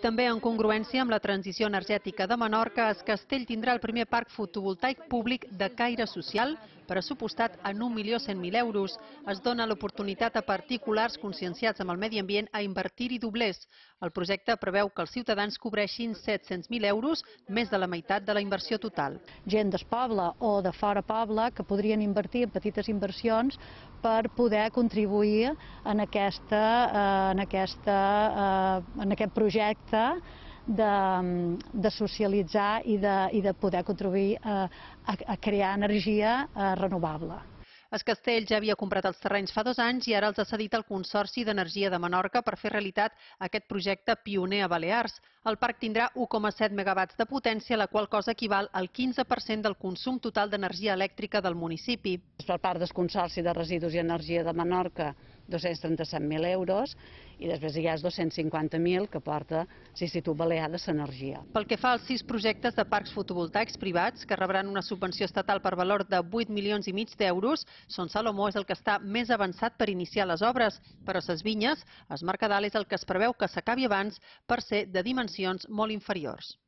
També en congruència amb la transició energètica de Menorca, Es Castell tindrà el primer parc fotovoltaic públic de caire social, pressupostat en 1.100.000 euros. Es dona l'oportunitat a particulars conscienciats amb el medi ambient a invertir-hi doblers. El projecte preveu que els ciutadans cobreixin 700.000 euros, més de la meitat de la inversió total. Gent del poble o de fora poble que podrien invertir en petites inversions per poder contribuir en aquest projecte de socialitzar i de poder contribuir a crear energia renovable. Es Castell ja havia comprat els terrenys fa 2 anys i ara els ha cedit al Consorci d'Energia de Menorca per fer realitat aquest projecte pioner a Balears. El parc tindrà 1,7 megawatts de potència, la qual cosa equival al 15% del consum total d'energia elèctrica del municipi. Per part del Consorci de Residus i Energia de Menorca, 237.000 euros, i després hi ha els 250.000 que porta l'Institut Balear de l'Energia. Pel que fa als 6 projectes de parcs fotovoltaics privats que rebran una subvenció estatal per valor de 8,5 milions d'euros, Son Salomó és el que està més avançat per iniciar les obres, però Ses Vinyes, es Mercadal, és el que es preveu que s'acabi abans per ser de dimensions molt inferiors.